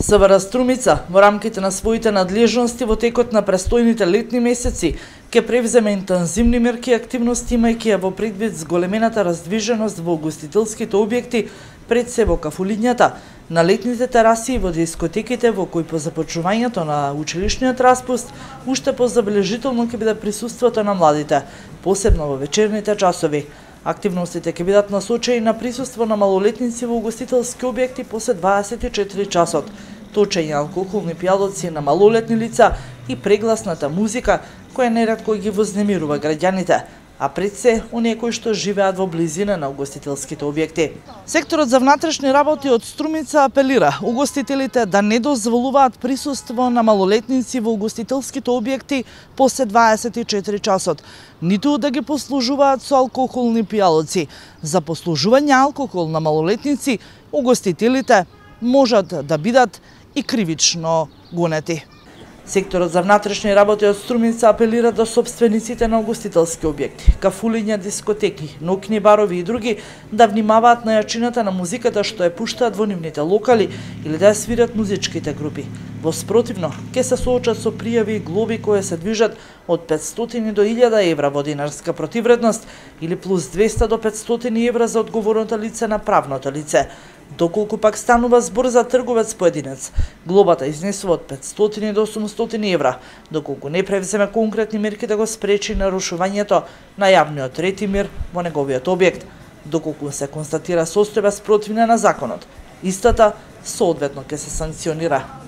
СВР Струмица во рамките на своите надлежности во текот на престојните летни месеци ќе превземе интензивни мерки и активности, имајќи ја во предвид зголемената раздвиженост во угостителските објекти, пред се во кафулињата, на летните тераси и во дискотеките, во кои по започнувањето на училишниот распуст уште позабележително ќе биде присуството на младите, посебно во вечерните часови. Активностите ќе бидат насочени на присуство на малолетници во угостителски објекти после 24 часот, точење алкохолни пијалоци на малолетни лица и прегласната музика, која неретко ги вознемирува граѓаните, а пред се оние кои што живеат во близина на угостителските објекти. Секторот за внатрешни работи од Струмица апелира угостителите да не дозволуваат присуство на малолетници во угостителските објекти после 24 часот, ниту да ги послужуваат со алкохолни пијалоци. За послужување алкохол на малолетници, угостителите можат да бидат и кривично гонети. Секторот за внатрешни работи од Струмица апелира до сопствениците на угостителски објекти, кафулиња, дискотеки, ноќни барови и други да внимаваат на јачината на музиката што ја пуштаат во нивните локали или да ја свират музичките групи. Во спротивно, ќе се соочат со пријави и глоби кои се движат од 500 до 1000 евра во динарска противредност или плюс 200 до 500 евра за одговорното лице на правното лице. Доколку пак станува збор за трговец поединец, глобата изнесува од 500 до 800 евра, доколку не превземе конкретни мерки да го спречи нарушувањето на јавниот ред и мир во неговиот објект, доколку се констатира состојба спротивна на законот. Истата соодветно ќе се санкционира.